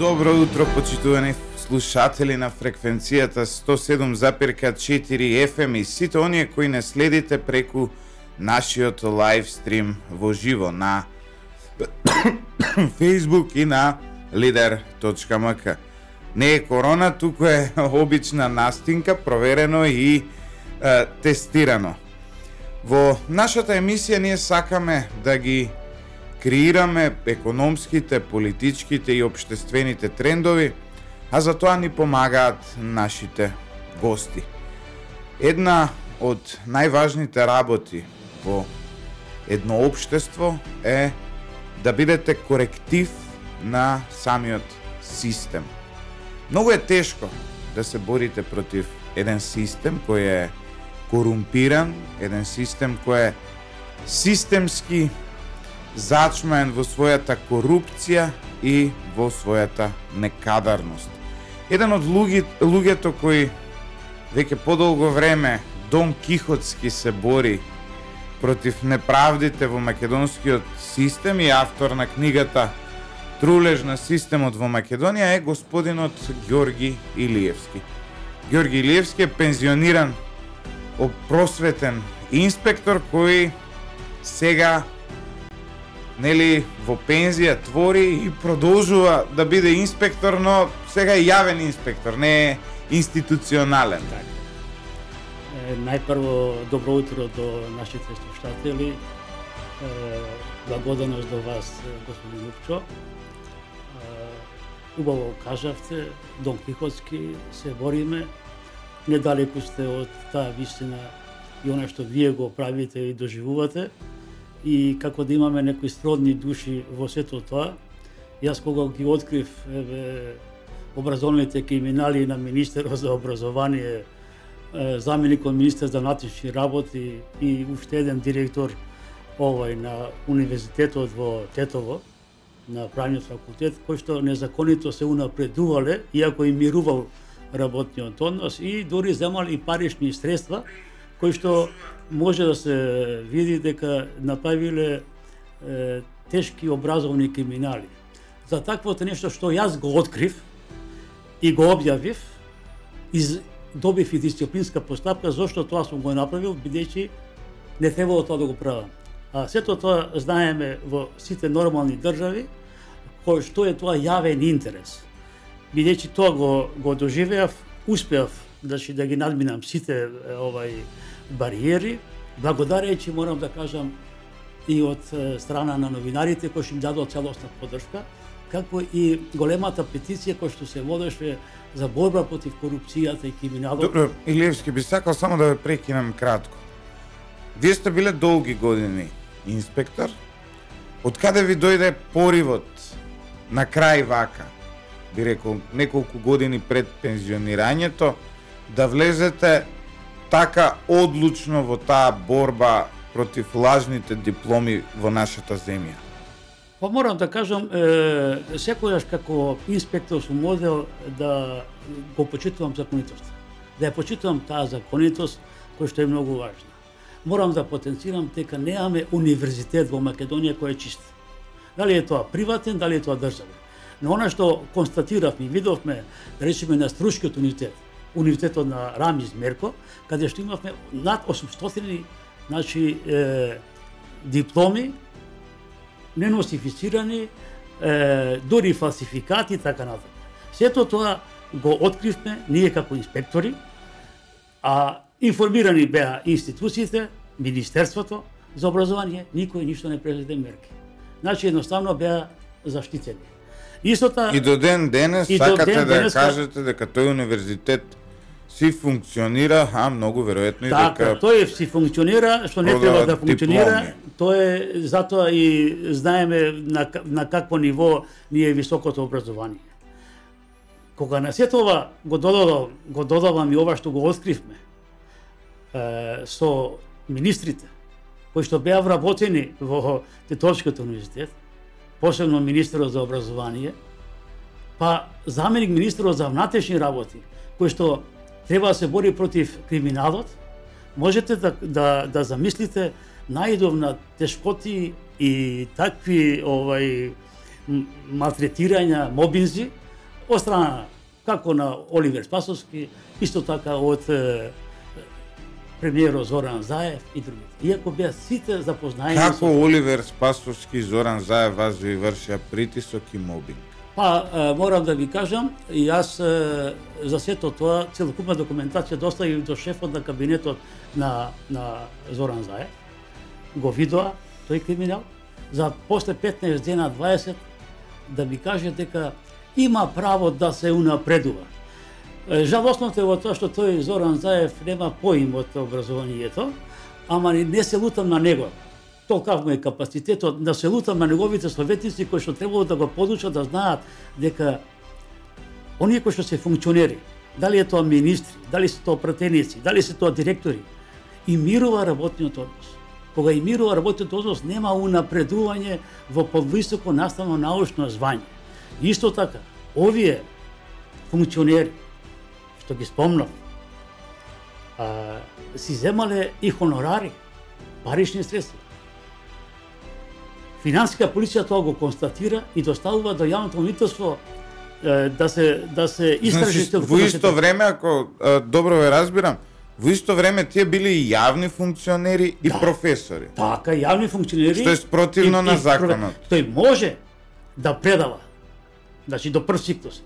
Добро утро, почитувани слушатели на фреквенцијата 107,4 FM и сите оние кои не следите преку нашиот лайв стрим во живо на Facebook и на lider.mk. Не е корона, туку е обична настинка, проверено и тестирано. Во нашата емисија ние сакаме да ги креираме економските, политичките и општествените трендови, а за тоа ни помагаат нашите гости. Една од најважните работи во едно општество е да бидете коректив на самиот систем. Многу е тешко да се борите против еден систем кој е корумпиран, еден систем кој е системски зачмаен во својата корупција и во својата некадарност. Еден од луѓето кои веќе подолго време Дон Кихотски се бори против неправдите во македонскиот систем и автор на книгата Трулеж на системот во Македонија е господинот Ѓорги Илиевски. Ѓорги Илиевски е пензиониран просветен инспектор кој сега во пензија твори и продолжува да биде инспектор, но сега е јавен инспектор, не е институционален. Најпрво добро утро до нашите слушатели. Благодарност до вас, господин Лупчо. Убаво кажавте, Дон Кихотски се бориме. Недалеку сте од таа вистина и она што вие го правите и доживувате. И како да имаме некои сродни души во сето тоа. Јас кога ги открив образовните криминали на министерот за образование, заменикот министер за внатрешни работи и уште еден директор на универзитетот во Тетово, на правниот факултет, кој што незаконито се унапредувале, иако им мирувал работниот однос и дури земал и парични средства, кои што може да се види дека направиле тешки образовни криминали. За таквото нешто што јас го открив и го објавив, добив и дисциплинска постапка, зашто тоа сум го направил, бидејќи не требало тоа да го правам. А сето тоа знаеме во сите нормални држави, кој што е тоа јавен интерес. Бидејќи тоа го доживеав, успеав да ги надминам сите бариери, благодарејќи, морам да кажам, и од страна на новинарите кои што им дадоа целосна поддршка, како и големата петиција која што се водеше за борба против корупцијата и криминалот. Добро, Илиевски, би сакал само да ве прекинам кратко. Вие сте биле долги години инспектор. Од каде ви дојде поривот на крај вака, би рекол, неколку години пред пензионирањето, да влезете така одлучно во таа борба против лажните дипломи во нашата земја? Па морам да кажам, секојаш како инспектор сум модел да го почитувам законитост. Да ја почитувам таа законитост која што е многу важна. Морам да потенцирам дека немаме универзитет во Македонија кој е чист. Дали е тоа приватен, дали е тоа државен. Но она што констатиравме и видовме, да речеме на Струшкиот универзитет, универзитетот на Рамиз Мерко, каде што имавме над 800 дипломи, неносифицирани, дури фалсификати и така натаму. Сето тоа го откривме ние како инспектори, а информирани беа институциите, Министерството за образование, никој ништо не презеде мерки. Значи едноставно беа заштитени. Истото и до ден денес сакате да кажете дека тој универзитет си функционира, многу веројатно и дека тој си функционира, што не треба да функционира. Тоа е затоа и знаеме на какво ниво ни е високото образование. Кога на сето ова го додавам и ова што го откривме со министрите кои што беа вработени во Тетовскиот универзитет, посебно министерот за образование, па заменик министерот за внатрешни работи, кој што треба да се бори против криминалот, можете да замислите најдов на тешкоти и такви малтретирања, мобинзи, од страна како на Оливер Спасовски, исто така од премиерот Зоран Заев и другите. Иако беа сите запознаени Како Оливер Спасовски и Зоран Заев вас ви вршија притисок и мобинг? Па, морам да ви кажам, и јас за сето тоа целокупна документација доставив до шефот на кабинетот на Зоран Заев. Го видоа тој криминал, за после 15 дена 20 да ми каже дека има право да се унапредува. Жалостното е во тоа што тој Зоран Заев нема поим од образованието, ама не се лутам на него. Толкав му е капацитетот, да се лутам на неговите советници кои што требало да го подучат да знаат дека оние кои што се функционери, дали е тоа министри, дали се тоа пратеници, дали се тоа директори, и мирува работниот однос. Кога и мирува работниот однос, нема унапредување во повисоко наставно научно звање. Исто така, овие функционери, што ги спомнав, си земале и хонорари, парични средства. Финансиска полиција тоа го констатира и доставува до јавното обвинителство да се истражи. Значи, во исто време, ако добро ве разбирам, во исто време тие били и јавни функционери и професори. Така, јавни функционери. Што е спротивно на законот. Тој може да предава, значи до прв циклус,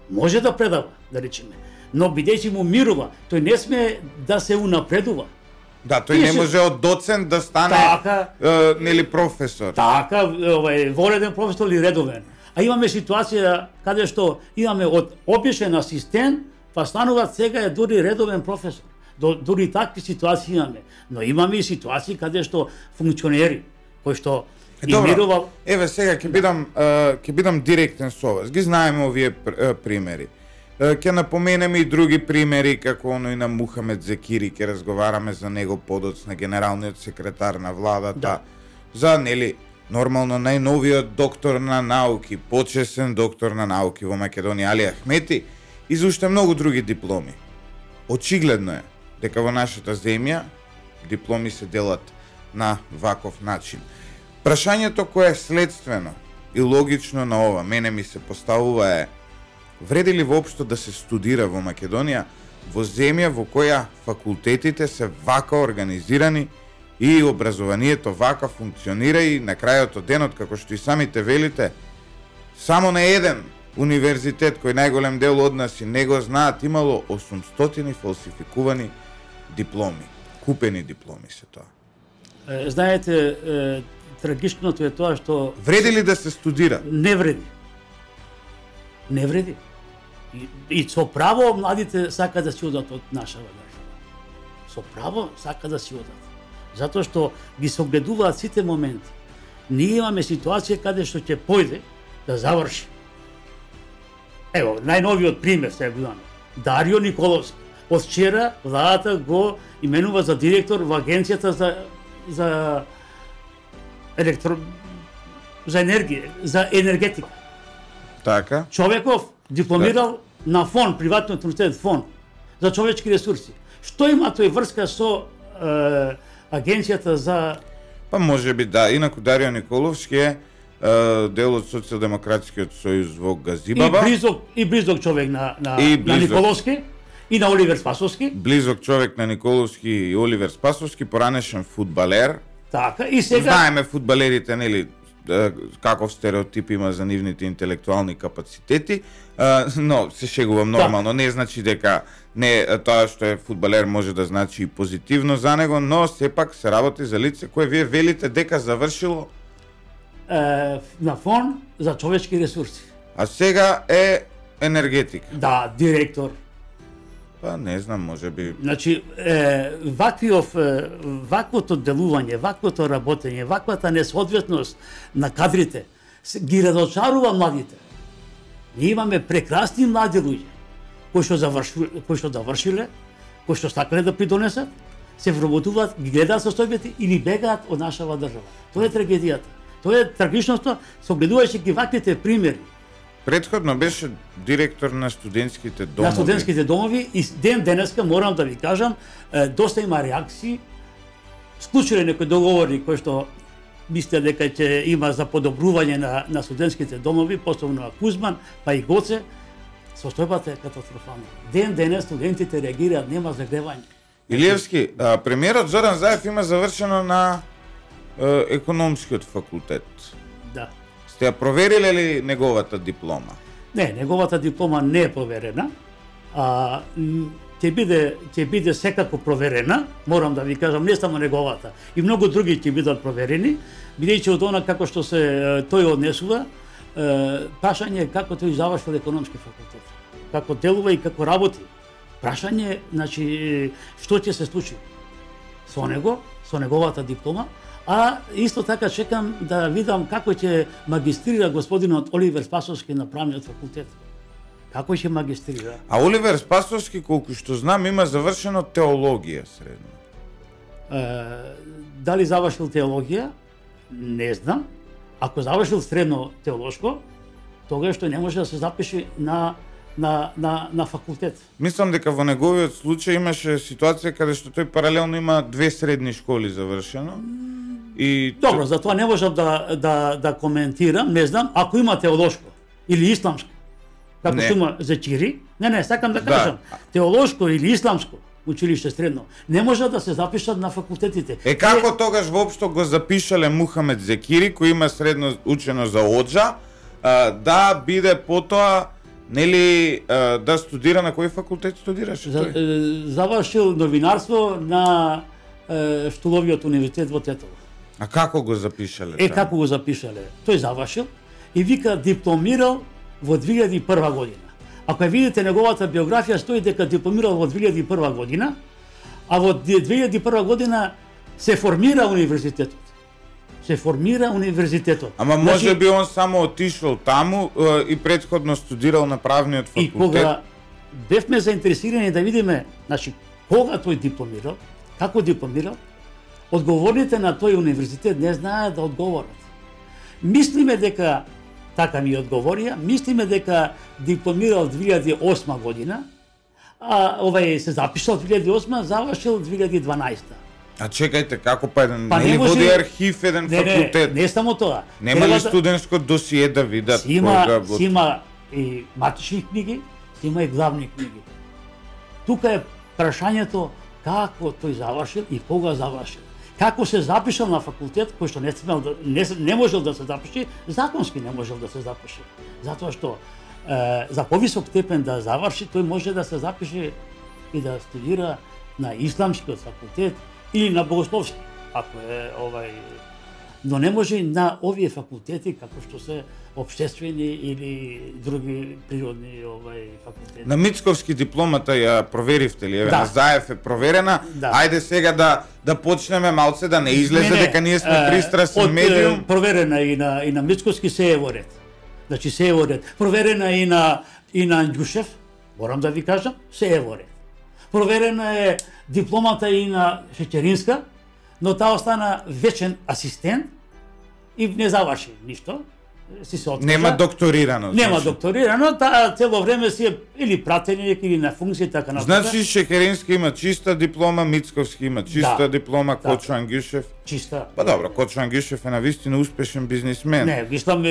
може да предава, да речеме, но бидејќи му мирува, тој не сме да се унапредува. Да, тој не може од доцент да стане нели професор. Така, вореден професор или редовен. А имаме ситуација каде што имаме од обичен асистент, па стануваат сега е дури редовен професор. Дури такви ситуации имаме. Но имаме и ситуации каде што функционери, кои што Добро, еве сега ќе бидам директен со вас. Ги знаеме овие примери. Ќе напоменеме и други примери, како оној на Мухамед Зекири, ќе разговараме за него подоцна, генералниот секретар на владата, да. За нели нормално најновиот доктор на науки, почесен доктор на науки во Македонија Али Ахмети и за уште многу други дипломи. Очигледно е дека во нашата земја дипломи се делат на ваков начин. Прашањето кое е следствено и логично на ова, мене ми се поставува е: вреди ли воопшто да се студира во Македонија, во земја во која факултетите се вака организирани и образованието вака функционира и на крајот од денот, како што и самите велите, само на еден универзитет кој најголем дел од нас и не го знаат, имало 800 фалсификувани дипломи, купени дипломи се тоа. Знаете, трагичното е тоа што... Вреди ли да се студира? Не вреди. Не вреди. И со право младите сака да си одат од нашава држава. Со право сака да си одат. Затоа што ги согледуваат сите моменти. Ние имаме ситуација каде што ќе појде да заврши. Ево, најновиот пример сега го имаме. Дарио Николовски. Од вчера владата го именува за директор во Агенцијата за енергија, за енергетика. Така. Човеков дипломирал на ФОН, приватниот универзитет ФОН, за човечки ресурси. Што има тој врска со Агенцијата за... Па може би да, инаку Дарио Николовски е дел од Социјалдемократскиот сојуз во Газибаба. И близок човек на Николовски и на Оливер Спасовски. Близок човек на Николовски и Оливер Спасовски, поранешен фудбалер. Така, и сега... Знаеме фудбалерите, нели, каков стереотип има за нивните интелектуални капацитети, но се шегувам нормално, не значи дека не тоа што е фудбалер може да значи и позитивно за него, но сепак се работи за лице кое вие велите дека завршило на ФОН за човечки ресурси. А сега е енергетик. Да, директор. Па не знам, може би... Значи, ваквото делување, ваквото работење, ваквата несоодветност на кадрите ги разочарува младите. Ние имаме прекрасни млади луѓе кои што завршиле, кои што сакале да придонесат, се вработуваат, ги гледаат состојбите или бегаат од нашава држава. Тоа е трагедијата. Тоа е трагичноста, согледувајќи ги ваквите примери. Предходно беше директор на студентските домови. На студентските домови и денеска морам да ви кажам, доста има реакции, склучиле некои договори кои што мисле дека ќе има за подобрување на студентските домови, посебно на Кузман, па и Гоце, Состојбата е катастрофална. Ден денес студентите реагираат, нема загревање. Илиевски, премиерот Зоран Заев има завршено на економскиот факултет. Да. Сте ја провериле ли неговата диплома? Не, неговата диплома не е проверена. Ќе биде секако проверена, морам да ви кажам, не само неговата, и многу други ќе бидат проверени, бидејќи од она како што се тој однесува, прашање е како тој завршил економски факултет, како делува и како работи. Прашање, значи, што ќе се случи со него, со неговата диплома, а исто така чекам да видам како ќе магистрира господинот Оливер Спасовски на правниот факултет. Како ќе магистрира? А Оливер Спасовски, колку што знам, има завршено теологија средно. Дали завршил теологија? Не знам. Ако завршил средно теолошко, тогаш што не може да се запише на факултет. Мислам дека во неговиот случај имаше ситуација каде што тој паралелно има 2 средни школи завршено. И добро, затоа не можам да коментирам, не знам, ако има теолошко или исламско, како што има Зечири, сакам да кажам, теолошко или исламско училиште средно, не може да се запишат на факултетите. Како тогаш воопшто го запишале Мухамед Зекири, кој има средно учено за оджа, да биде потоа, нели, да студира на кој факултет студираше тој? Завршил новинарство на Штуловиот универзитет во Тетово. А како го запишале? Како го запишале? Тој завршил и вика дипломирал во 2001 година. Ако ја видите неговата биографија, стои дека дипломирал во 2001 година, а во 2001 година се формира универзитетот. Ама може би он само отишол таму и претходно студирал на правниот факултет. И кога бевме заинтересирани да видиме, значи, кога тој дипломирал, како дипломирал, одговорните на тој универзитет не знаат да одговорат. Мислиме дека, така ми одговорија, мислиме дека дипломирал 2008 година, а се запишал 2008, завршил 2012. А чекајте, како не води архив еден факултет? Не само тоа. Нема ли студентско досие да видат? Си има и матични книги, си има и главни книги. Тука е прашањето како тој завршил и кога завршил. Како се запишал на факултет кој што не можел да се запише, законски не можел да се запише. Затоа што за повисок степен да заврши, тој може да се запише и да студира на исламскиот факултет или на богословски, ако е но не може на овие факултети како што се општествени или други природни факултети. На Мицковски дипломата ја проверивте ли? На Заев е проверена. Ајде сега да почнеме малце, да не излезе дека ние сме пристрасен медиум. Проверена и на Мицковски се е во ред. Значи се е во ред. Проверена и на Андјушев, морам да ви кажам, се е во ред. Проверена е дипломата и на Шеќеринска, но таа остана вечен асистент и не заврши ништо. Нема докторирано. Нема докторирано, таа цело време си е или пратеник или на функција така натаму. Значи Шеќеринска има чиста диплома, Мицковски има чиста диплома, Кочо Ангјушев. Чиста. Па добро, Кочо Ангјушев е навистина успешен бизнисмен. Не, мислам,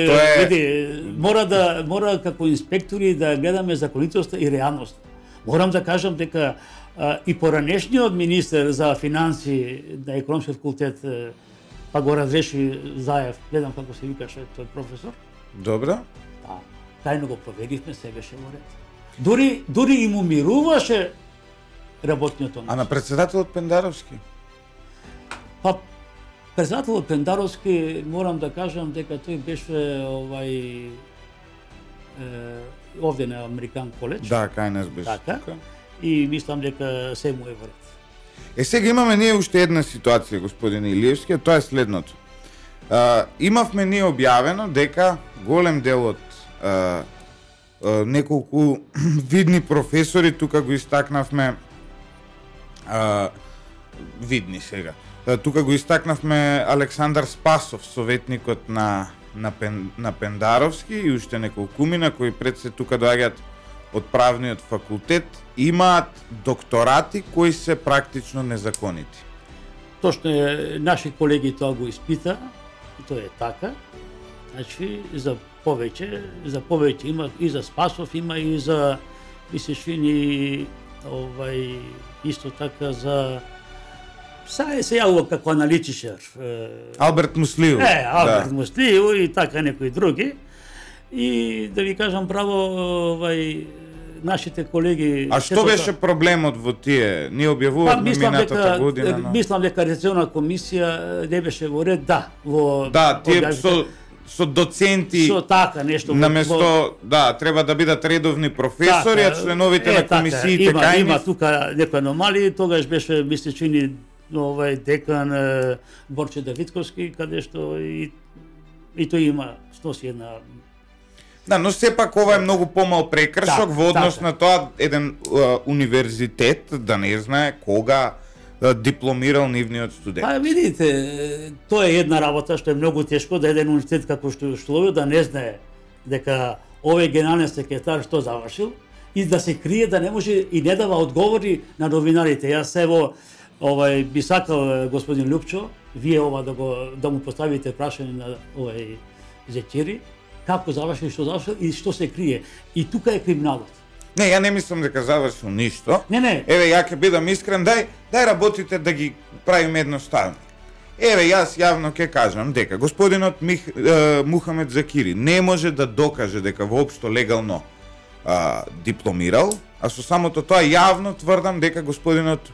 мора како инспектори да гледаме законитоста и реалност. Морам да кажам дека и поранешниот министер за финанси на економски факултет па го разреши Заев, гледам како се викаше тој професор. Добро. Тајно го проверивме, се беше во ред. Дури и му мируваше работниот однос. А на председателот Пендаровски? Па председателот Пендаровски, морам да кажам дека тој беше овде на Американ коледж. Да, кај нас беше. Така. И мислам дека се му е во ред. Сега имаме ние уште една ситуација, господин Илиевски, тоа е следното. Имавме ние објавено дека голем дел од неколку видни професори, тука го истакнавме, видни сега, тука го истакнавме Александар Спасов, советникот на Пендаровски и уште неколкумина кои пред се тука доаѓаат од правниот факултет, имаат докторати кои се практично незаконити. Точно е, наши колеги тоа го испита, тоа е така. Значи за повеќе има и за Спасов, има и за ми се чини исто така за се јавува како аналитичар. Алберт Муслиев. Алберт Муслиев и така некои други. И да ви кажам право, нашите колеги... А што беше проблемот во тие? Ние објавувавме минатата година, но... Мислам дека Рецесионна комисија не беше во ред, тие со доценти со така нешто наместо треба да бидат редовни професори, а членовите на комисиите кај има тука некои аномалии, тогаш беше ми се чини декан Борче Давидковски, каде што и тој има сноси една. Но сепак ова е многу помал прекршок во однос на тоа еден универзитет да не знае кога дипломирал нивниот студент. Видите, тоа е една работа што е многу тешко да еден универзитет како што Шловио да не знае дека овој генерален секретар што завршил и да се крие, да не може и не дава одговори на новинарите. Јас ево би сакал господин Лупчо, вие да му поставите прашање на Зекири, како завршил, и што се крие. И тука е криминалот. Не, ја не мислам дека завршил ништо. Не. Еве, ја ќе бидам искрен, дај работите да ги правиме едноставно. Еве, јас јавно ќе кажам дека господинот Мухамед Закири не може да докаже дека воопшто легално дипломирал, а со самото тоа јавно тврдам дека господинот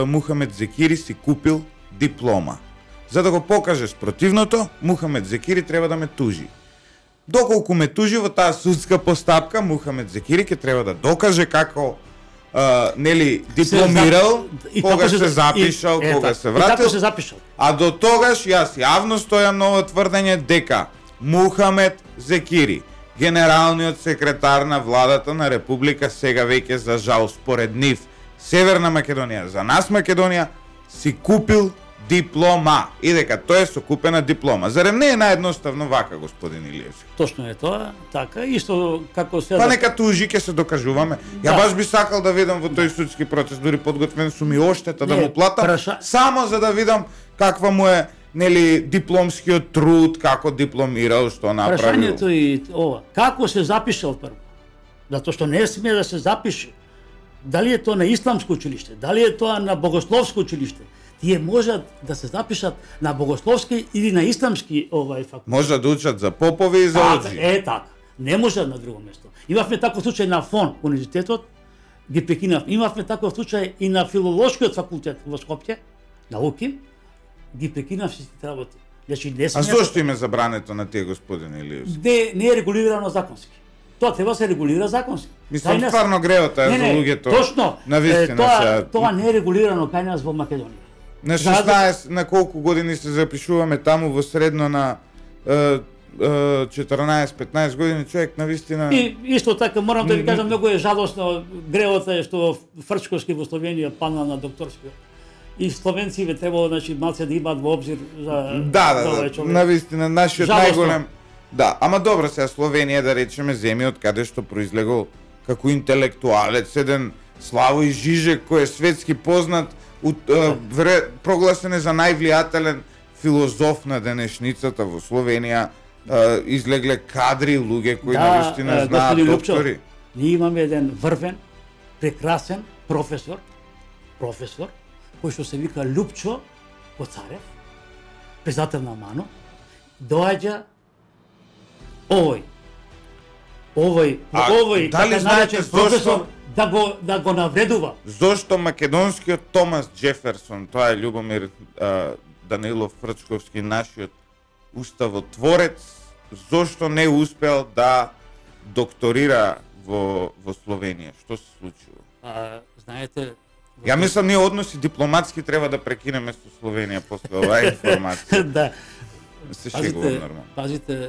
Мухамед Закири си купил диплома. За да го покаже спротивното, Мухамед Закири треба да ме тужи. Доколку ме тужи во таа судска постапка, Мухамед Закири ќе треба да докаже како дипломирал, кога се запишал, кога се вратил. А до тогаш јас јавно стојам на ово тврдење дека Мухамед Закири, генералниот секретар на владата на Република, сега веќе за жал според нив Северна Македонија, за нас Македонија, си купил диплома и дека тоа е со купена диплома. Зарем не е наедноставно вака, господин Илиевски? Точно е тоа, така, исто како се... Па нека тужи, ќе се докажуваме. Ја баш би сакал да видам во тој судски процес, дури подготвен сум и оштета да му платам, само за да видам каква му е дипломскиот труд, како дипломирал, што направил. Прашањето и ова, како се запишал прво? Затоа што не сме да се запише. Дали е тоа на исламско училиште, дали е тоа на богословско училиште? Тие можат да се запишат на богословски или на исламски факултет. Можат да учат за попови и за оджи. Така. Не можат на друго место. Имавме таков случај на ФОН, универзитетот, ги прекинав. Имавме таков случај и на филолошкиот факултет во Скопје, науки, ги прекинав сите работи. Значи, а зошто им е забрането на тие, господин Илиевски? Не е регулирано законски. Тоа треба да се регулира законски. Мислам, стварно греото е за луѓето. Точно. Тоа не е регулирано кај нас во Македонија. На 16, на колку години се запишуваме таму во средно на 14-15 години, човек навистина... И исто така, морам да ви кажам, многу е жалосно, греото е што Фрчковски во Словенија пана на докторскиот. И словенците требало, значи, малце да имаат во обзир за овој човек. Навистина, нашиот најголем... Да, ама добро сега Словенија, да речеме, земја од каде што произлегол како интелектуалец, еден Славој Жижек, кој е светски познат, прогласен е за највлијателен филозоф на денешницата во Словенија, излегле кадри луѓе кои навистина знаат доктори. Ние имаме еден врвен, прекрасен професор, кој што се вика Лупчо Коцарев, председател на МАНО, доаѓа овој дали знаете професор да го навредува. Зошто македонскиот Томас Джеферсон, тоа е Љубомир Данилов Фрчковски, нашиот уставотворец, зошто не успел да докторира во Словенија? Што се случило? Знаете, ја мислам, ние односи дипломатски треба да прекинеме со Словенија после оваа информација. Да. Се шегувам нормално. Пазите,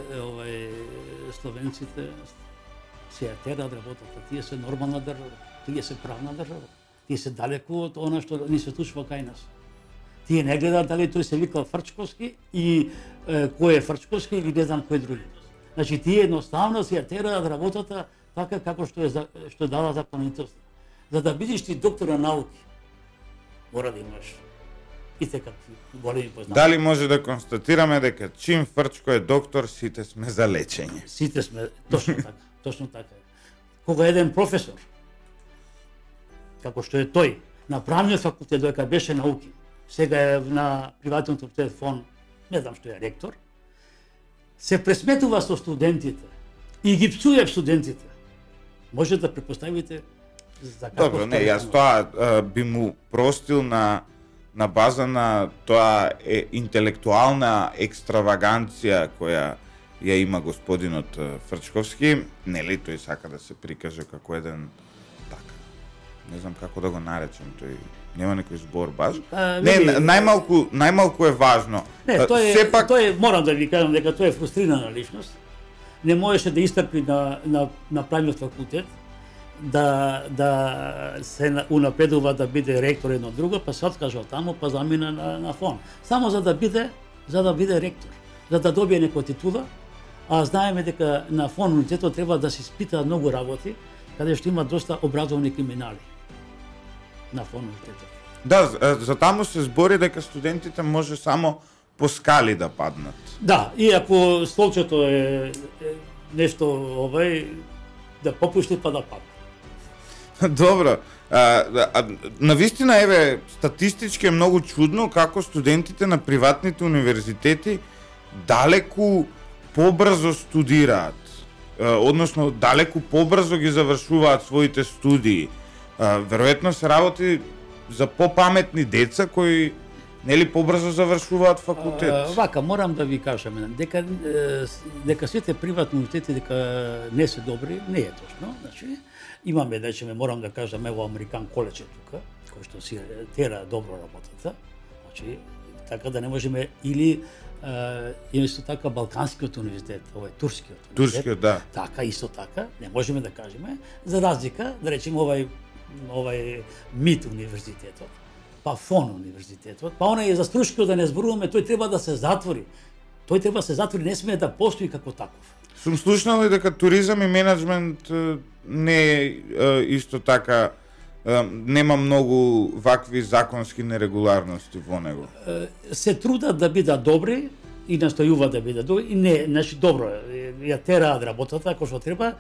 словенците се терат работата. Тие се нормална држава, тие се правна држава. Тие се далеку од она што ни се случува кај нас. Тие не гледаат дали тој се вика Фрчковски и кој е Фрчковски или не знам кој други. Значи тие едноставно се терат работата така како што дава законитост. За да бидеш ти доктор на науки, мора да имаш какви големи познати. Дали може да констатираме дека чим Фрчко е доктор, сите сме за лечење? Сите сме, точно така, точно така. Кога еден професор, како што е тој, на правниот факултет доека беше науки, сега е на приватниот факултет фон, не знам што е ректор, се пресметува со студентите и ги псуе студентите. Може да препоставите за како. Добро, не, јас тоа би му простил на база на тоа интелектуална екстраваганција која ја има господинот Фрчковски, нели тој сака да се прикаже како еден така. Не знам како да го наречам, тој нема некој збор баш. Не, најмалку е важно. Не, тој морам да ви кажам дека тој е фрустрирана личност. Не можеше да истрпи на правниот факултет да се унапредува да биде ректор едно друго, па се откажа таму, па замина на фон. Само за да биде ректор, за да добие некоја титула, а знаеме дека на фон универзитетот треба да се испитаат многу работи, каде што има доста образовани криминали на фон универзитетот. Да, за таму се збори дека студентите може само по скали да паднат. Да, и ако столчето е нешто да попушти па да падне. Добро. Навистина, еве, статистички е многу чудно како студентите на приватните универзитети далеку побрзо студираат. Односно, далеку побрзо ги завршуваат своите студии. Веројатно се работи за попаметни деца кои нели побрзо завршуваат факултет. Вака, морам да ви кажам дека сите приватни универзитети дека не се добри, не е точно. Значи, имаме, речеме, морам да кажам, ево Американ коледж е тука, кој што си тера добро работата. Значи, така да не можеме или исто така Балканскиот универзитет, овој Турскиот универзитет. Турскиот, да. Така, исто така, не можеме да кажеме, за разлика, да речеме овај МИТ универзитетот, па ФОН универзитетот, па онај за Струшкиот да не зборуваме, тој треба да се затвори. Тој треба да се затвори, не смее да постои како таков. Сум слушнал и дека туризам и менеджмент не е исто така, нема многу вакви законски нерегуларности во него. Се трудат да бидат добри и настојуваат да бидат добри и не, значи добро, ја тераат работата како што треба.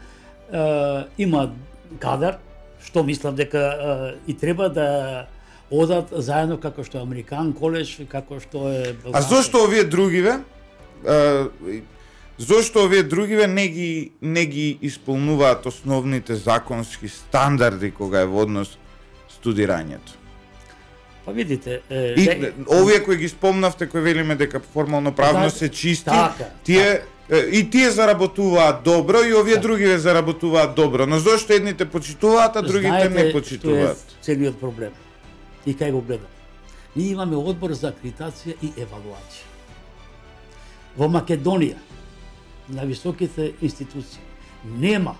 Има кадар, што мислам дека и треба да одат заедно како што е Американ коледж, како што е А зошто овие другиве? Зошто овие другиве не ги исполнуваат основните законски стандарди кога е во однос студирањето? Па видите, овие кои ги спомнавте, кои велиме дека формално правно се чисти, тие заработуваат добро и овие другиве заработуваат добро. Но зошто едните почитуваат, а другите не почитуваат? Знаете, целиот проблем. И кај го гледам. Ние имаме одбор за акредитација и евалуација. Во Македонија, на високите институции, нема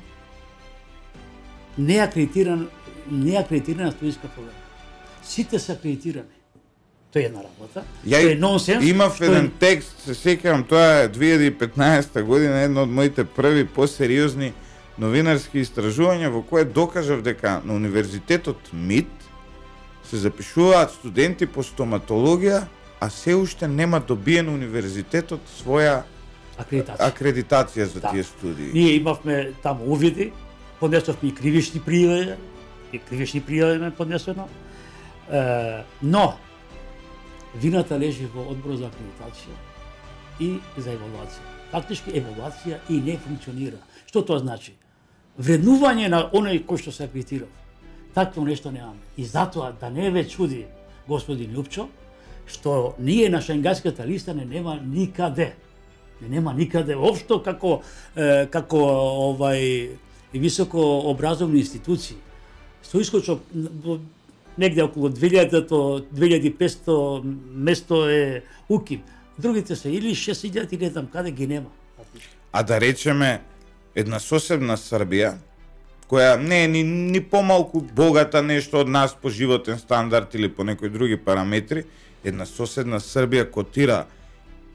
неакредитирана студиска програма. Сите се акредитирани. Тоа е една работа. Тоа е нонсенс. Имав еден текст, се сеќавам, тоа е 2015 година, едно од моите први посериозни новинарски истражувања во кое докажав дека на универзитетот МИТ се запишуваат студенти по стоматологија, а се уште нема добиен универзитетот своја акредитација за тие студии. Ние имавме таму увиди, поднесовме и кривични пријави ме поднесено, но вината лежи во одбор за акредитација и за евалуација. Фактички евалуација и не функционира. Што тоа значи? Вреднување на оној кој што се акредитирал. Такво нешто немаме. И затоа да не ве чуди господин Љупчо, што ние на шенгенската листа не нема никаде. Не нема никаде општо како високо образовни институции. Со искочок негде околу 2500 место е УКИМ. Другите се или 6000 или там каде ги нема. А да речеме една соседна Србија, која не е ни помалку богата нешто од нас по животен стандард или по некои други параметри, една соседна Србија котира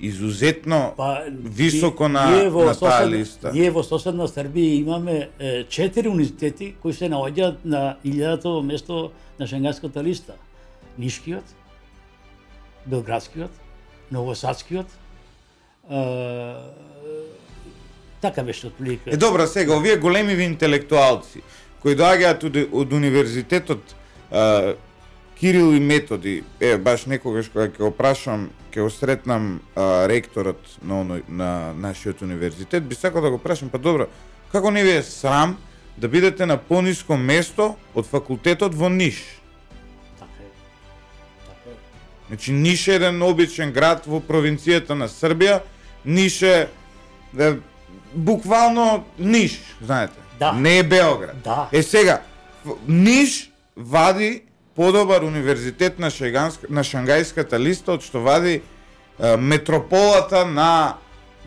изузетно високо на таа листа. Ние во соседна Србија имаме 4 универзитети кои се наоѓаат на 1000-то место на шенгенската листа. Нишкиот, Белградскиот, Новосадскиот, така беше отприлика. Добро, сега овие големиви интелектуалци кои доаѓаат од универзитетот Кирил и Методи, баш некогаш кога ќе го прашам, ќе го сретнам ректорот на нашиот универзитет, би сакал да го прашам, па добро, како не ви е срам да бидете на пониско место од факултетот во Ниш? Така е. Така е. Значи Ниш е еден обичен град во провинцијата на Србија, Ниш е буквално Ниш, знаете. Да. Не е Београд. Да. Сега, Ниш вади подобар универзитет на Шангајската листа од што вади метрополата на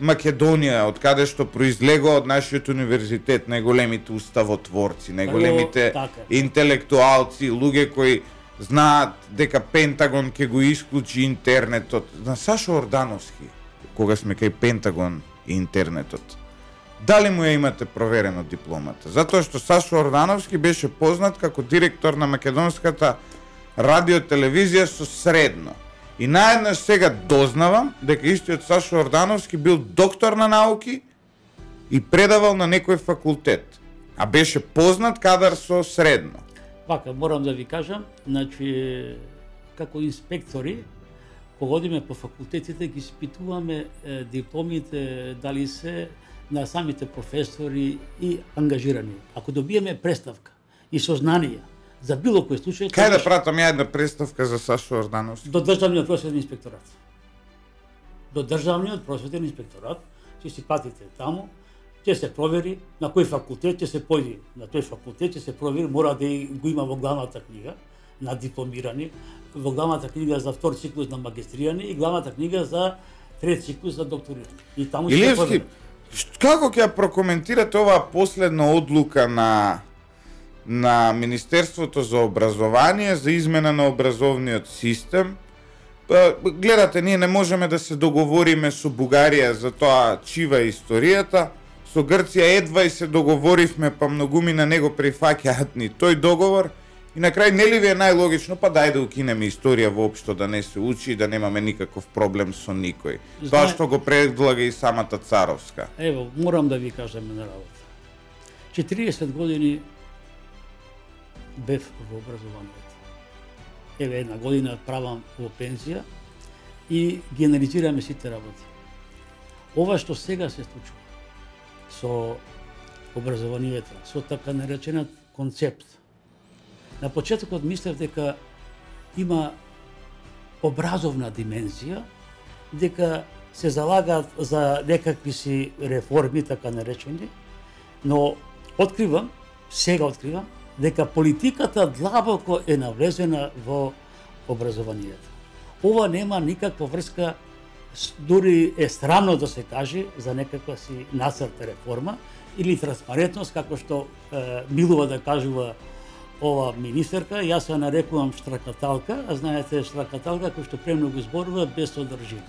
Македонија, од каде што произлегува од нашиот универзитет, најголемите уставотворци, најголемите интелектуалци, луѓе кои знаат дека Пентагон ќе го исклучи интернетот. На Сашо Ордановски, кога сме кај Пентагон и интернетот, дали му ја имате проверено дипломата? Затоа што Сашо Ордановски беше познат како директор на македонската радиотелевизија со средно. И наеднаш сега дознавам дека истиот Сашо Ордановски бил доктор на науки и предавал на некој факултет, а беше познат кадар со средно. Вака, морам да ви кажам, значи, како инспектори, кога одиме по факултетите, ги испитуваме дипломите, дали се на самите професори и ангажирани. Ако добиеме представка и сознание за било кој случај... Кај да пратам ја една представка за Сашо Ордановски? До Државниот просветен инспекторат. До Државниот просветен инспекторат, ќе си патите таму, ќе се провери на кој факултет ќе се појди. На тој факултет ќе се провери, мора да го има во главната книга на дипломирани, во главната книга за втор циклус на магистрирани и главната книга за трет циклус за докторирани. И таму ќе се провери. Како ќе прокоментирате оваа последна одлука на Министерството за образование за измена на образовниот систем? Гледате, ние не можеме да се договориме со Бугарија за тоа чива е историјата. Со Грција едва и се договоривме, па многуми на него прифаќаат ни тој договор. И на крај нели ви е најлогично, па дај да укинеме историја воопшто, да не се учи и да немаме никаков проблем со никој. Тоа што го предлага и самата Царовска. Ево, морам да ви кажам една работа. 40 години бев во образованието. Еве една година правам во пензија и ги анализираме сите работи. Ова што сега се случува со образованието, со така нареченат концепт. На почетокот мислев дека има образовна димензија, дека се залагаат за некакви си реформи, така наречени, но сега откривам, дека политиката длабоко е навлезена во образованието. Ова нема никаква врска, дури е срамно да се каже за некаква си нацрт реформа или транспарентност, како што милува да кажува ова министерка. Јас се нарекувам штракаталка, а знаете штракаталка кој што премногу зборува без содржина.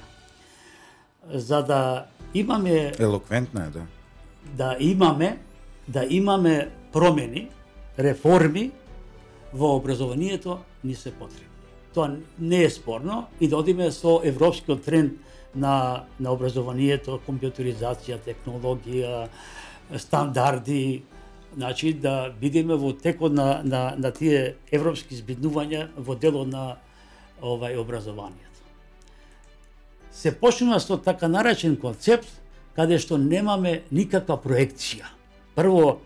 За да имаме... Елоквентна е, да. Да имаме промени, реформи во образованието ни се потребни. Тоа не е спорно и да одиме со европскиот тренд на образованието, компјутеризација, технологија, стандарди, значи да бидеме во текот на тие европски збиднувања во дело на образованието. Се почнува со така наречен концепт каде што немаме никаква проекција. Прво,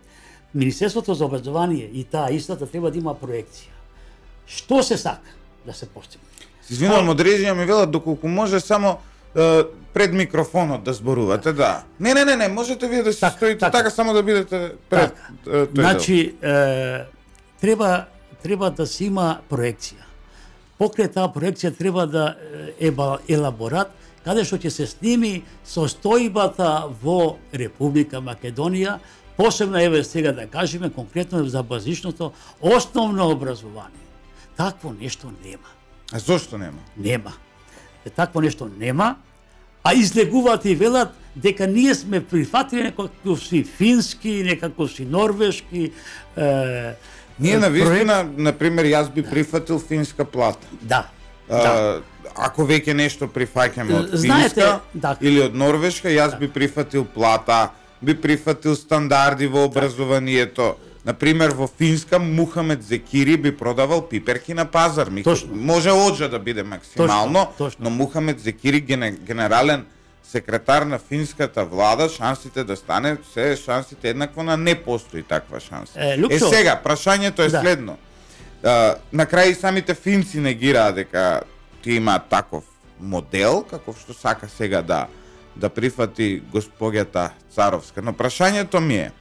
Министерството за образование и таа истата треба да има проекција. Што се сака да се постигне? Извинувам, од режија ми велат доколку може само пред микрофонот да зборувате, да. Не, можете вие да се стоите така само да бидете пред тој дел. Значи, треба да се има проекција. Покрај таа проекција треба да елаборат каде што ќе се сними состојбата во Република Македонија, посебно еве сега да кажеме конкретно за базичното основно образование. Такво нешто нема. А зошто нема? Нема. Такво нешто нема, а излегуваат и велат дека ние сме прифатили некаков си фински, некаков си норвешки Ние навистина, например, јас би прифатил финска плата. Да. ако веќе нешто прифаќаме од Знаете, Финска или од Норвешка, јас би прифатил плата, би прифатил стандарди во образованието. Например, во Финска Мухамед Зекири би продавал пиперки на пазар. Може оџа да биде максимално, но Мухамед Зекири генерален секретар на финската влада, шансите да стане шансите еднакво на не постои таква шанса. Сега, прашањето е следно. На крај самите финци негираат дека ти има таков модел, каков што сака сега да прифати госпоѓата Царовска. Но прашањето ми е,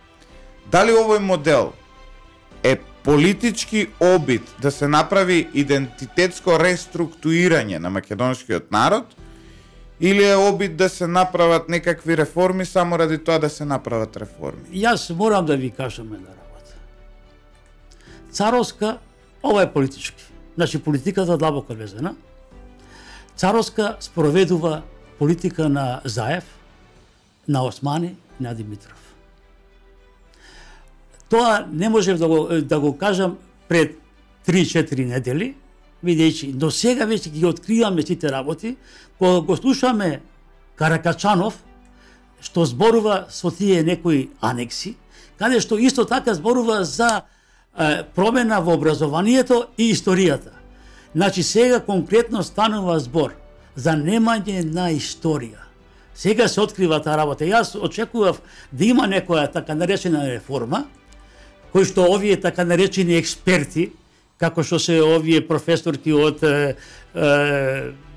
дали овој модел е политички обид да се направи идентитетско реструктурирање на македонскиот народ, или е обид да се направат некакви реформи само ради тоа да се направат реформи? Јас морам да ви кажам една работа. Царовска, ова е политички. Значи политиката длабоко везена. Царовска спроведува политика на Заев, на Османи, на Димитров. Тоа не можев да го кажам пред 3-4 недели, видејќи, до сега веќе ги откриваме сите работи, кога го слушаме Каракачанов, што зборува со тие некои анекси, каде што исто така зборува за промена во образованието и историјата. Значи сега конкретно станува збор за немање на историја. Сега се открива таа работа. Јас очекував да има некоја така наречена реформа, кој што овие така наречени експерти, како што се овие професорки од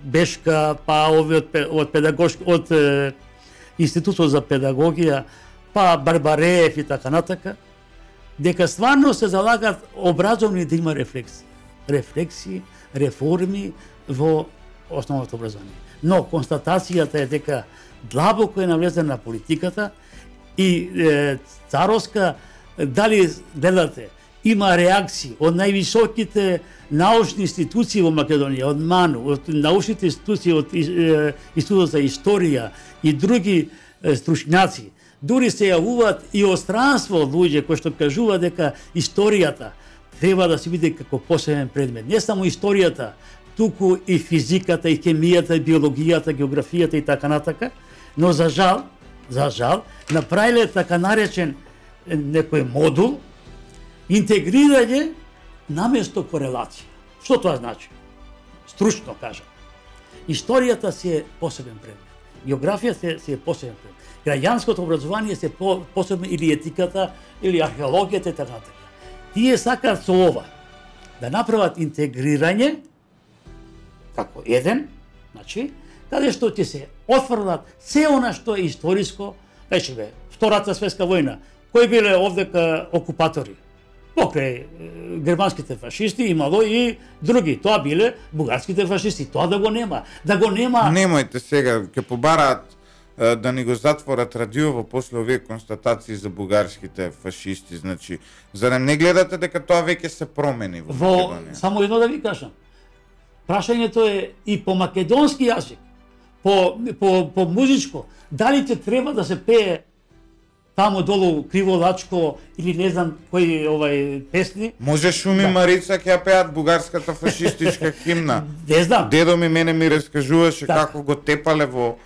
Бешка, па овие од Институтот за педагогија, па Барбареев и така натака, дека стварно се залагат образовни да има рефлексии, реформи во основното образование. Но констатацијата е дека длабоко е навлезена политиката и Царовска, дали гледате, има реакции од највисоките научни институции во Македонија, од МАНУ, од научните институции, од Институтот за историја и други стручњаци. Дури се јавуваат и од странство од луѓе кои што кажуваат дека историјата треба да се биде како посебен предмет. Не само историјата, туку и физиката, и хемијата, и биологијата, географијата и така натака, но за жал, направиле така наречен некој модул, интегрирање наместо корелација. Што тоа значи? Стручно кажам. Историјата си е посебен предмет. Географијата си е посебен предмет. Граѓанското образование се посебно, или етиката, или археологијата и така натака. Тие сакаат со ова да направат интегрирање како еден, значи, каде што ќе се отфрлат се она што е историско, речеме, Втората светска војна, кои биле овдека окупатори? Покрај германските фашисти имало и други, тоа биле бугарските фашисти, тоа да го нема. Немојте сега, ќе побараат да ни го затворат радиово после овие констатации за бугарските фашисти, значи, зарем не гледате дека тоа веќе се промени во Македонија? Само едно да ви кажам. Прашањето е и по македонски јазик, по музичко, дали ќе треба да се пее таму долу Криволачко или не знам кои песни. Може Шуми Марица ќе ја пеат бугарската фашистичка химна. Не знам. Дедо мене ми раскажуваше како го тепале во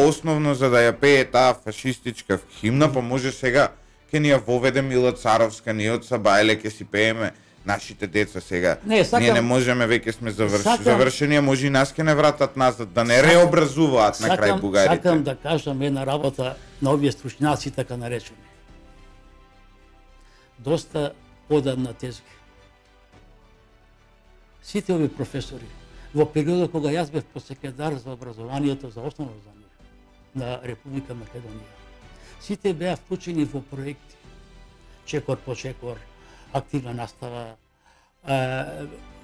основно за да ја пее таа фашистичка химна, па може сега ќе ни ја воведе Мила Царовска, ние од Сабајле ќе си пееме нашите деца сега. Ние не можеме, веќе сме завршени, а може и нас ќе не вратат назад, да не реобразуваат на крај бугарите. Сакам да кажам една работа на овие стручњаци така наречени. Доста одамна тезги. Сите овие професори во периодот кога јас бев посекретар за образованието, за основно образование на Република Македонија, сите беа вклучени во проекти. Чекор по чекор, активна настава,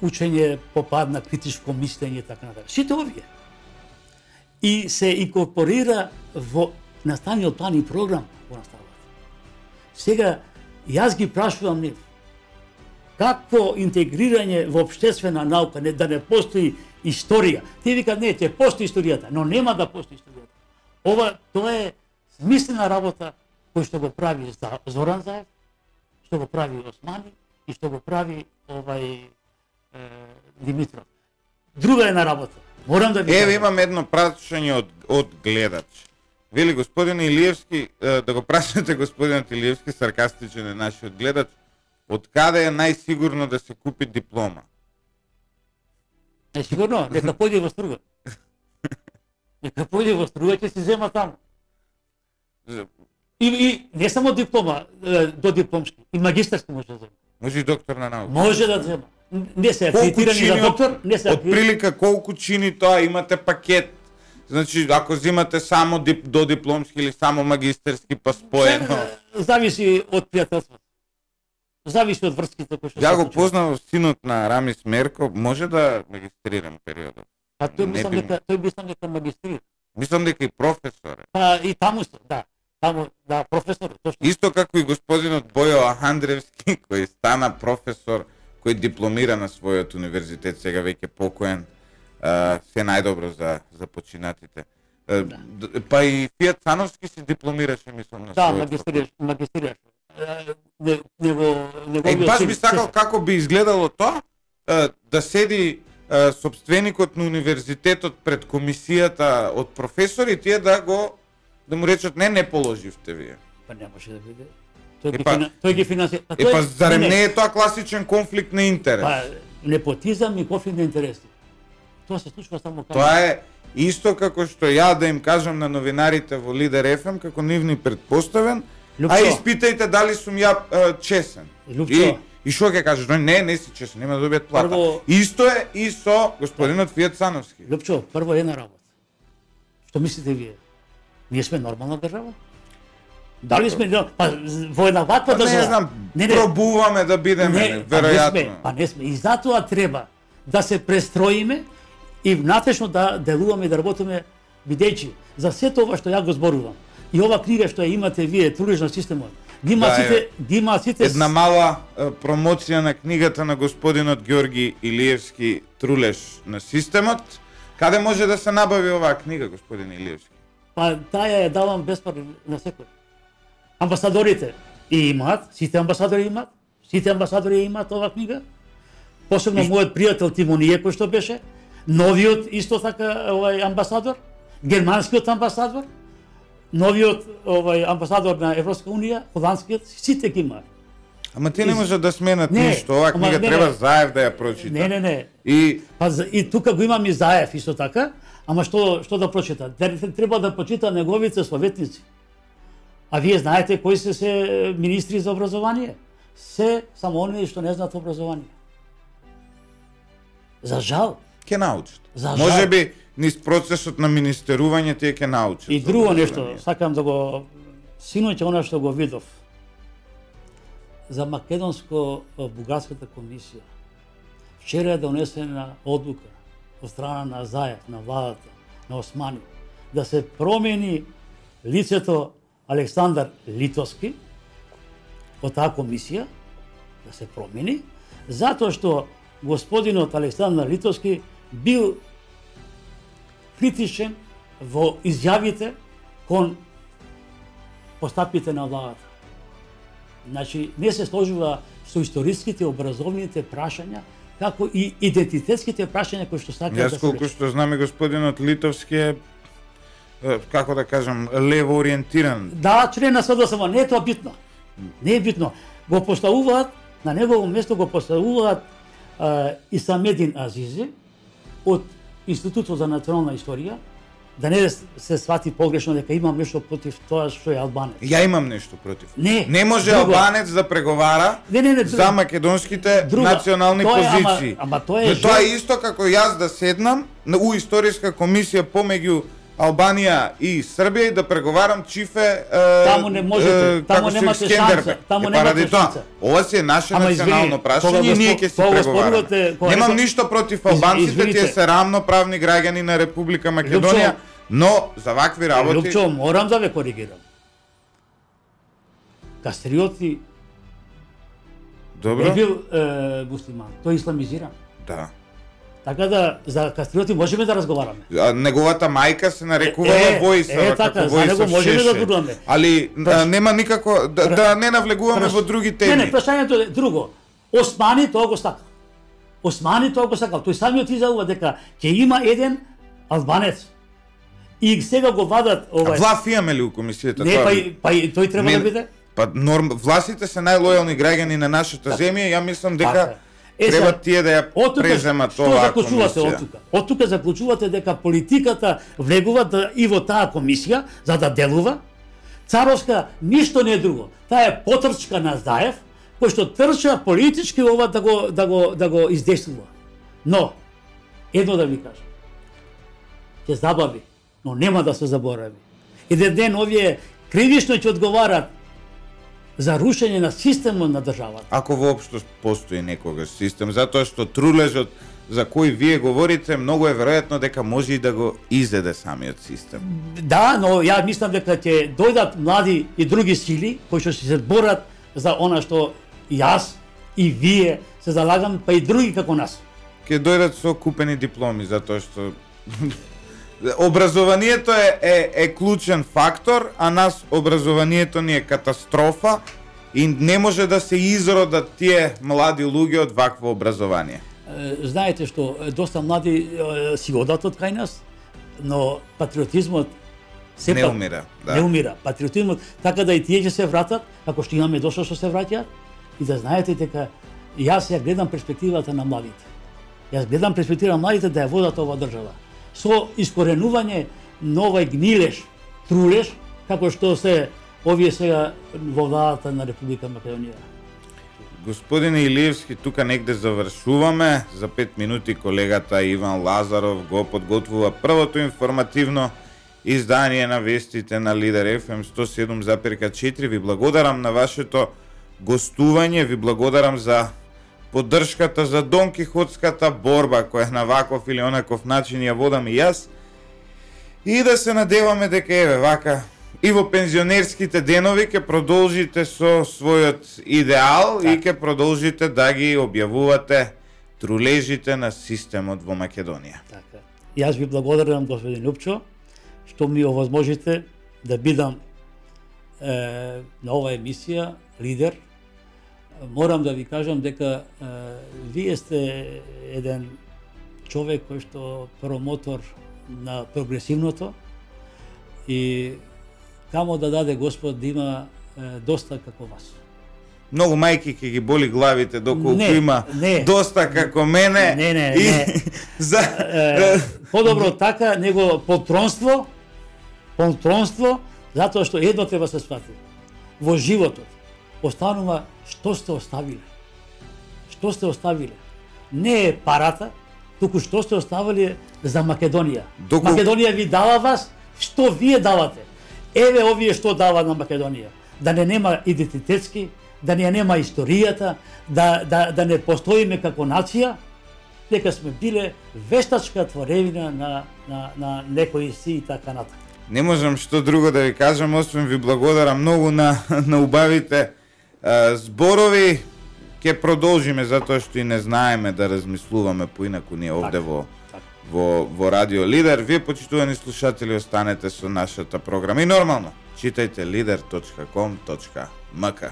учење по пат на критичко мислење и така натаму. Сите овие. И се инкорпорира во наставниот план и програм во наставата. Сега, јас ги прашувам нив, какво интегрирање во општествена наука, да не постои историја. Те викат, не, ќе постои историјата, но нема да постои историјата. Тоа е смислена работа кој што го прави Зоран Заев, што го прави Османи и што го прави Димитров. Друга една работа. Морам да ви Еве кажам. имам едно прашање од гледач. Вели господин Илиевски, да го прашате господинот Илиевски, саркастичен е нашиот гледач, од каде е најсигурно да се купи диплома? Сигурно, нека појде во Струга. Нека појде во Струга, ќе се зема таму. И не само диплома, до дипломски, и магистарски може да зема. Може и доктор на наука. Може да зема. Не се акредитирани за доктор, не се Од прилика колку чини тоа, имате пакет. Значи, ако земате само до дипломски или само магистерски, па споено. Зависи од пријателството. Зависи од врските кои што Ја се го случуваат. познав синот на Рамис Мерко, може да магистрирам периодот. Па тој мислам Не би- дека тој мислам дека магистрира. Мислам дека и професор е. Па и таму се, да. Таму, да, професор, точно. Исто како и господинот Бојо Ахандревски, кој стана професор, кој дипломира на својот универзитет, сега веќе покоен. Се најдобро за починатите. Па и Фијат Цановски се дипломираше, мислам, на Да, својот магистрираш. баш би сакал како би изгледало тоа, да седи собственикот на универзитетот пред комисијата од професори, тие да му речат не положивте вие. Па немаше да биде. Епа- Тој ги финансира. Па зарем не е тоа класичен конфликт на интерес? Па непотизам и конфликт на интереси. Тоа се случува само кај. Тоа е исто како што ја да им кажам на новинарите во Лидер ФМ, како нивни предпоставен, Лупчо. а испитајте дали сум ја чесен. Лупчо. И што ќе кажеш? Не си чесен, нема да добијат плата. Прво- Исто е и со господинот Фијат Цановски. Лупчо, прво една работа. Што мислите вие? Ние сме нормална држава? Дали сме па во една ваква држава? Не знам, пробуваме да бидеме, веројатно. Па не сме. И затоа треба да се престроиме и внатрешно да делуваме и да работиме, бидејќи за сето ова што ја го зборувам и ова книга што ја имате вие, Трулеш на системот, ги има сите Една мала промоција на книгата на господинот Ѓорги Илиевски, Трулеш на системот. Каде може да се набави оваа книга, господин Илиевски? Па таа ја давам бесплатно на секој. Амбасадорите и имаат, сите амбасадори имаат оваа книга. Посебно мојот пријател Тимонije кој што беше, новиот исто така амбасадор, германскиот амбасадор, новиот амбасадор на Европска унија, холандскиот, сите ги имаат. Ама ти не може да сменат Не, ништо, оваа ама книга не, треба не. Заев да ја прочита. Не. И И тука го имам и Заев исто така, ама што да прочита? Треба да прочита неговите советници. А вие знаете кои се министри за образование? Се само оние што не знаат образование. За жал. ќе научат. За Може жал. би низ процесот на министерување тие ќе научат. И за друго образование. нешто, сакам да го синоќа она што го видов за македонско-бугарската комисија. Вчера е донесена одлука од страна на Заев, на владата, на Османи, да се промени лицето Александар Литовски од таа комисија, да се промени, затоа што господинот Александар Литовски бил критичен во изјавите кон постапите на владата. Значи, не се сложува со историските, образовните прашања, како и идентитетските прашања кои што сакаат да Јас се колку решат. што знам и господинот Литовски е како да кажам, лево ориентиран. Да, член на СДСМ, не е тоа битно. Не е битно. Го поставуваат, на негово место го поставуваат Исамедин Азизи од Институтот за национална историја, да не се свати погрешно дека имам нешто против тоа што е албанец. Ја имам нешто против. Не може друго. албанец да преговара Не, за македонските Друго. национални Тоа е, позиции. ама тоа е Тоа е исто како јас да седнам у историска комисија помеѓу Албанија и Србија и да преговарам чифе Таму не можете, таму немате шанса, таму немате шанса. Ова си е наше Ама национално извини, прашање кога и ние го ќе си кога преговараме. спорувате, кога Немам рекол- ништо против албанците, Извините. тие се рамноправни граѓани на Република Македонија, но за вакви работи Лупчо, морам да ве коригирам. Кастриоти добро. не бил муслиман, тој исламизиран. Да. Така да за Кастриоти можеме да разговараме. А, неговата мајка се нарекувала Војсава, така, како за него Војсав можеме да Шешелј. зборуваме. Али нема никако да не навлегуваме во други теми. Не, прашањето е друго. Османи тоа го сакал. Османи тоа го сакал. Тој самиот изјавува дека ќе има еден Албанец. И сега го вадат А власт имаме ли у комисијата? Не, па и тој треба да биде. Па властите се најлојални граѓани на нашата земја, ја мислам дека треба тие да ја преземат оваа комисија. Од тука заклучувате дека политиката влегува и во таа комисија за да делува. Царовска ништо не е друго. Таа е потрчка на Заев, кој што трча политички ова да го издействува. Но едно да ви кажам. Ќе забави, но нема да се заборави. Еден ден овие кривично ќе одговарат за рушење на системот на државата. Ако воопшто постои некогаш систем, затоа што трулежот за кој вие говорите, многу е веројатно дека може и да го изеде самиот систем. Да, но ја мислам дека ќе дојдат млади и други сили кои што се борат за она што јас и вие се залагаме, па и други како нас. Ќе дојдат со купени дипломи, затоа што образованието е клучен фактор, а нас образованието ни е катастрофа и не може да се изродат тие млади луѓе од вакво образование. Знаете што доста млади си одат од кај нас, но патриотизмот не умира, да. Не умира. Патриотизмот така да и тие ќе се вратат, како што имаме дошто што се враќаат, и да знаете дека јас ја гледам перспективата на младите. Јас гледам перспективата на младите да ја водат оваа држава со искоренување на овој гнилеш, трулеш, како што се овие сега во владата на Република Македонија. Господине Илиевски, тука негде завршуваме. За 5 минути колегата Иван Лазаров го подготвува првото информативно издание на вестите на Лидер FM 107,4. Ви благодарам на вашето гостување, ви благодарам за поддршката за Дон Кихотската борба која на ваков или онаков начин ја водам и јас. И да се надеваме дека еве вака и во пензионерските денови ќе продолжите со својот идеал и ќе продолжите да ги објавувате трулежите на системот во Македонија. Така. Јас ви благодарам, господин Лупчо, што ми овозможите да бидам на оваа емисија Лидер. Морам да ви кажам дека вие сте еден човек кој што промотор на прогресивното и камо да даде Господ да има доста како вас. Многу мајки ќе ги боли главите доколку има доста како мене. Не. Подобро така него полтронство, затоа што едно треба се свати. Во животот останува што сте оставиле. Што сте оставиле? Не е парата, туку што сте оставиле за Македонија. Македонија ви дава вас, што вие давате. Еве овие што дава на Македонија. Да не нема идентитетски, да не нема историјата, да не постоиме како нација, дека сме биле вештачка творевина на некои си и така натака. Не можам што друго да ви кажам, освен ви благодарам многу на убавите зборови. Ќе продолжиме затоа што и не знаеме да размислуваме поинаку ние овде во Радио Лидер. Вие, почитувани слушатели, останете со нашата програма и нормално читајте lider.com.mk.